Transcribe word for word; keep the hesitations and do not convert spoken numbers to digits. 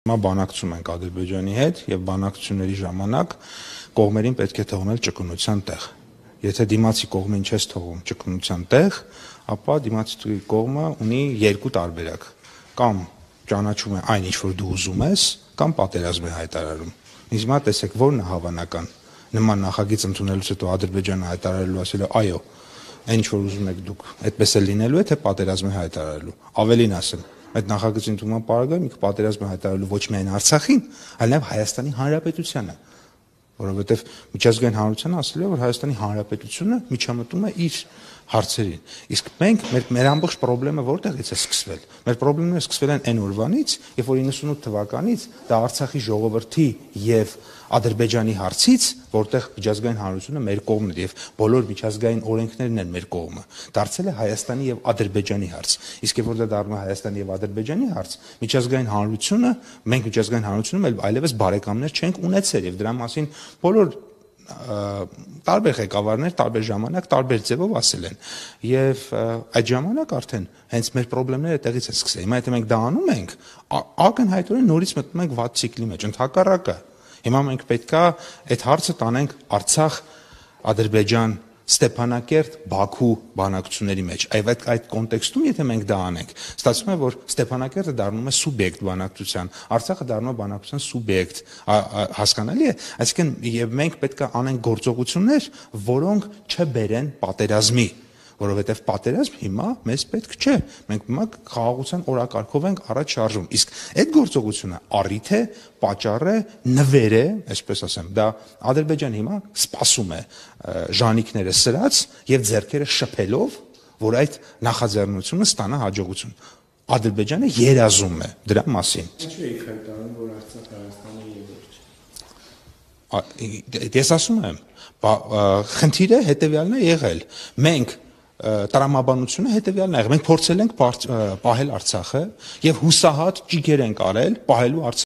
Հիմա բանակցում ենք Ադրբեջանի հետ եւ բանակցությունների ժամանակ կողմերին պետք է թողնել ճկունության տեղ։ Եթե դիմացի կողմին չես թողում ճկունության տեղ, ապա դիմացի կողմը ունի երկու տարբերակ. կամ ճանաչում է այն, ինչ որ դու ուզում ես, կամ պատերազմ է հայտարարում։ Իսկ հիմա տեսեք, որն է հավանական։ Նման նախագիծ ընդունելուց հետո Ադրբեջանը հայտարարելու ասել է, այո, այն ինչ որ ուզում եք դուք, այդպես է լինելու է, թե պատերազմ է հայտարարելու։ Ավելին ասեմ, այդ նախագծի ընդունման պարագայում ինքը պատերազմ է հայտարարելու ոչ միայն Արցախին, այլ նաև Հայաստանի Հանրապետությանը, որովհետև միջազգային հանրությունը ասել է, որ Հայաստանի Հանրապետությունը միջամտում է իր հարցերին։ Իսկ մենք մեր մեր ամբողջ խնդրումը որտեղից է սկսվել։ Մեր խնդիրները սկսվել են այն օրվանից, երբ որ իննսունութ թվականից դա Արցախի ժողովրդի եւ Ադրբեջանի հարցից, որտեղ միջազգային հանրությունը մեր կողմն է եւ բոլոր միջազգային օրենքներն են մեր կողմը, դարձել է Հայաստանի եւ Ադրբեջանի հարց։ Իսկ երբ որ դա դառնում է Հայաստանի եւ Ադրբեջանի հարց, միջազգային հանրությունը, մենք միջազգային հանրությունում այլևս բարեկամներ չենք ունեցել եւ դրա մասին բոլոր տարբեր ղեկավարներ տարբեր ժամանակ տարբեր ձևով ասել են եւ այդ ժամանակ արդեն հենց մեր խնդիրները տեղից են սկսել։ Հիմա եթե մենք դա անում ենք, ակնհայտորեն նորից մտնում ենք վատ ցիկլի մեջ, ընդհակառակը։ Հիմա մենք պետքա այդ հարցը տանենք Արցախ, Ադրբեջան, Ստեփանակերտ, Բաքու բանակցությունների մեջ։ Այդ այդ կոնտեքստում եթե մենք դա անենք, ստացվում է, որ Ստեփանակերտը դառնում է սուբյեկտ բանակցության, Արցախը դառնում է բանակցության սուբյեկտ, հասկանալի է։ Այսինքն եւ մենք պետքա անենք գործողություններ, որոնք չբերեն պատերազմի, որովհետև պատերազմ հիմա մեզ պետք չէ։ Մենք հիմա խաղաղության օրակարգով ենք առաջ շարժվում։ Իսկ այդ գործողությունը առիթ է, պատճառ է, նվեր է, այսպես ասեմ, դա Ադրբեջանը հիմա սպասում է ժանիքները սրած եւ ձեռքերը շփելով, որ այդ նախաձեռնությունը ստանա հաջողություն։ Ադրբեջանը երազում է դրա մասին։ Ինչու եք հայտարարում, որ Արցախը Հայաստանի երրորդ։ Ես ասում եմ, խնդիրը հետեւյալն է եղել։ Մենք տրամաբանությունը հետեւյալն է եղել։ Մենք փորձել ենք պահել Արցախը եւ հուսահատ ճիգեր ենք արել պահելու